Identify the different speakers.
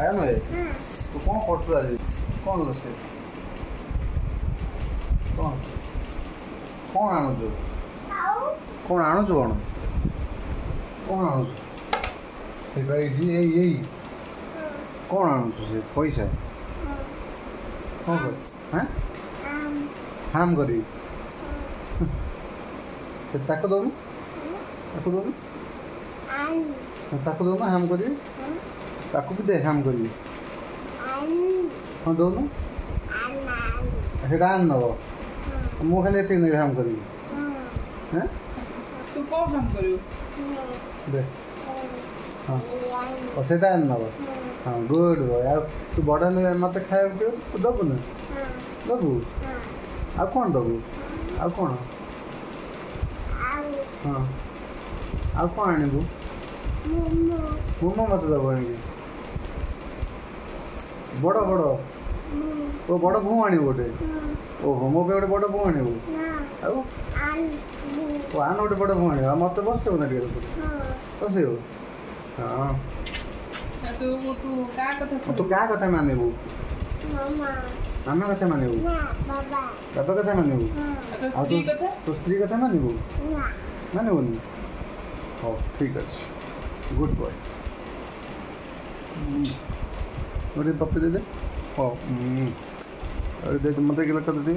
Speaker 1: ଆୟନ ଏ, ତୁ କ'ଣ କରୁଛୁ ଆଜି? କ'ଣ ରୋଷେଇ? କ'ଣ କ'ଣ ଆଣୁଛୁ? କ'ଣ ଆଣୁଛୁ? କ'ଣ କ'ଣ ଆଣୁଛୁ? ସେଇଟା ଏଇଠି, ଏଇ ଏଇ କ'ଣ ଆଣୁଛୁ? ସେ ପଇସା କ'ଣ କର? ହାଁ, ହାମ୍ କରିବି। ସେ ତାକୁ ଦଉନୁ, ତାକୁ ଦଉନୁ, ତାକୁ ଦଉନୁ, ହାମ୍ କରିବି। ତାକୁ ବି ଦେ, ହାମ୍ କରିବି। ହଁ, ଦଉନୁ। ସେଇଟା ଆଣି ନେବ, ମୁଁ ଖାଲି ଏତିକି ନେବି, ହାମ୍ କରିବି। ହେଁ,
Speaker 2: ତୁ କ'ଣ ହାମ୍ କରିବୁ?
Speaker 1: ଦେ। ହଁ, ସେଇଟା ଆଣି ନେବ। ହଁ, ଗୁଡ୍ ବୟ। ଆଉ ତୁ ବଡ଼ ହେଲେ ମୋତେ ଖାଇବାକୁ ତୁ ଦେବୁ ନା? ଦେବୁ? ଆଉ କ'ଣ ଦେବୁ? ଆଉ କ'ଣ? ହଁ, ଆଉ କ'ଣ ଆଣିବୁ? ମୋମୋ ମୋତେ ଦେବୁ ଆଣିକି? ବଡ଼ ବଡ଼, ଓ ବଡ଼ ଭୂ ଆଣିବୁ ଗୋଟେ? ଓହୋ, ମୋ ପାଇଁ ଗୋଟେ ବଡ଼ ଭୂ ଆଣିବୁ? ଆଉ ଓ ଆନ, ଗୋଟେ ବଡ଼ ଭୂ ଆଣିବୁ। ଆଉ ମୋତେ ବସେଇବୁ ନା ଟିକେ? ବସେଇବୁ? ହଁ। ତୁ କାହା କଥା ମାନିବୁ? ମାମା କଥା ମାନିବୁ? ବାବା କଥା ମାନିବୁ? ଆଉ ତୁ ତୋ ସ୍ତ୍ରୀ କଥା ମାନିବୁ? ମାନିବୁନି? ହଉ, ଠିକ୍ ଅଛି, ଗୁଡ୍ ବୟ। ଗୋଟେ ପପି ଦେଇଦେ। ହଉ, ଦେ ମୋତେ। କିଲୋ କେତେ ଟିକେ?